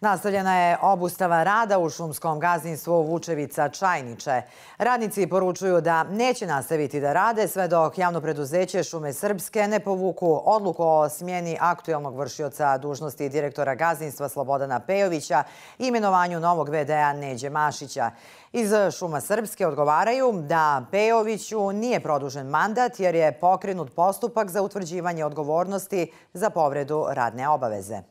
Nastavljena je obustava rada u šumskom gazdinstvu Vučevica Čajniče. Radnici poručuju da neće nastaviti da rade sve dok javno preduzeće Šume Srpske ne povuku odluku o smjeni aktuelnog vršioca dužnosti direktora gazdinstva Slobodana Pejovića i imenovanju novog VD-a Neđe Mašića. Iz Šuma Srpske odgovaraju da Pejoviću nije produžen mandat jer je pokrenut postupak za utvrđivanje odgovornosti za povredu radne obaveze.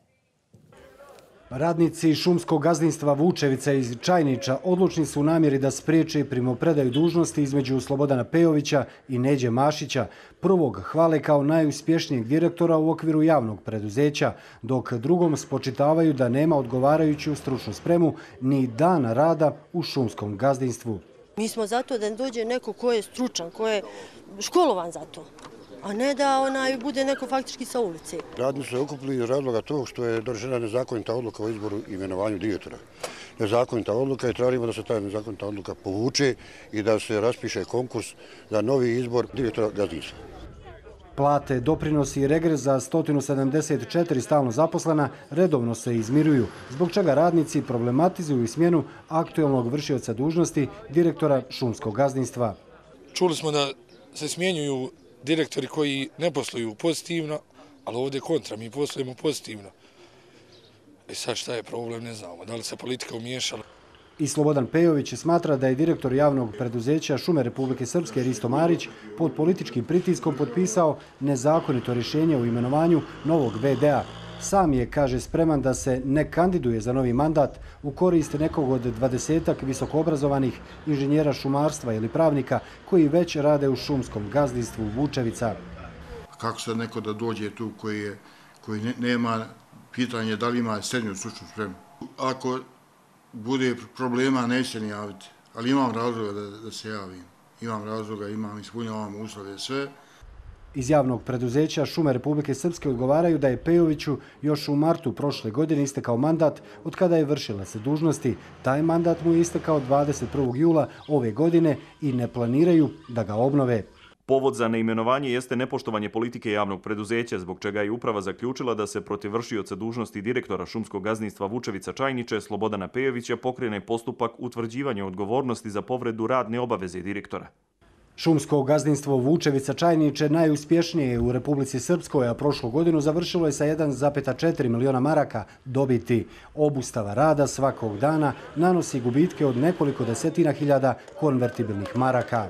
Radnici šumskog gazdinstva Vučevica iz Čajniča odlučni su u namjeri da spriječe primopredaju dužnosti između Slobodana Pejovića i Neđe Mašića. Prvog hvale kao najuspješnijeg direktora u okviru javnog preduzeća, dok drugom spočitavaju da nema odgovarajuću stručnu spremu ni dana rada u šumskom gazdinstvu. Mi smo zato da dođe neko ko je stručan, ko je školovan za to, a ne da bude neko faktički sa ulici. Radnici su se okupili iz razloga tog što je donesena nezakonita odluka o izboru i imenovanju direktora. Nezakonita odluka i tražimo da se ta nezakonita odluka povuče i da se raspiše konkurs za novi izbor direktora gazdinstva. Plate, doprinosi i regres za 174 stalno zaposlena redovno se izmiruju, zbog čega radnici problematizuju i smjenu aktuelnog vršioca dužnosti direktora šumskog gazdinstva. Čuli smo da se smjenjuju direktori koji ne posluju pozitivno, ali ovdje kontra, mi poslujemo pozitivno. I sad šta je problem, ne znamo. Da li se politika umiješala? I Slobodan Pejović smatra da je direktor javnog preduzeća Šume Republike Srpske Risto Marić pod političkim pritiskom potpisao nezakonito rješenje o imenovanju novog VD-a. Sam je, kaže, spreman da se ne kandiduje za novi mandat u korist nekog od 20-ak visokoobrazovanih inženjera šumarstva ili pravnika koji već rade u šumskom gazdinstvu Vučevica. Kako sad neko da dođe tu koji nema pitanje da li ima srednju stručnu spremu? Ako bude problema, neće ni javiti, ali imam razloga da se javim. Imam razloga, ispunjavam uslove sve. Iz javnog preduzeća Šume Republike Srpske odgovaraju da je Pejoviću još u martu prošle godine istekao mandat od kada je vršila se dužnosti. Taj mandat mu je istekao 21. jula ove godine i ne planiraju da ga obnove. Povod za neimenovanje jeste nepoštovanje politike javnog preduzeća, zbog čega je uprava zaključila da se protiv vršioca dužnosti direktora šumskog gazdinstva Vučevica Čajniče Slobodana Pejovića pokrene postupak utvrđivanja odgovornosti za povredu radne obaveze direktora. Šumsko gazdinstvo Vučevica Čajniče najuspješnije je u Republici Srpskoj, a prošlu godinu završilo je sa 1,4 miliona maraka dobiti. Obustava rada svakog dana nanosi gubitke od nekoliko desetina hiljada konvertibilnih maraka.